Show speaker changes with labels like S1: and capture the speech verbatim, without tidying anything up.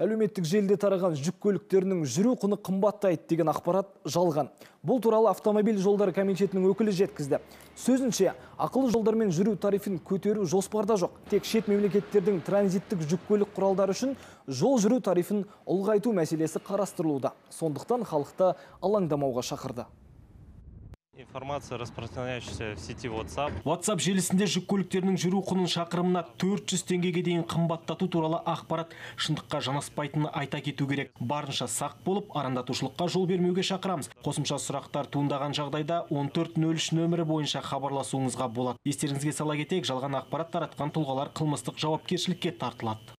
S1: Әлеуметтік желіде тараған жүк көліктерінің жүру құны қымбаттайды деген ақпарат жалған. Бұл туралы автомобиль жолдары комитетінің өкілі жеткізді. Сөзінше, ақылы жолдармен жүру тарифін көтеру жоспарда жоқ. Тек шет мемлекеттердің транзиттік жүк көлік құралдары үшін жол жүру тарифін ұлғайту мәселесі қарастырылуда. Сондықтан халықты алаңдамауға шақырды.
S2: Информация, распространяющаяся в сети WhatsApp.
S3: WhatsApp желісінде жүк көліктерінің жүру құнын шақырымына төрт жүз теңгеге дейін қымбаттату туралы ақпарат шындыққа жанаспайтынын айта кету керек. Барынша сақ болып, арандатушылыққа жол бермеуге шақырамыз. Қосымша сұрақтар туындаған жағдайда он төрт нөл үш нөмірі бойынша хабарласуыңызға болады. Естеріңізге сала кетейік, жалған ақпарат таратқан тұлғалар қылмыстық жауапкершілікке тартылады.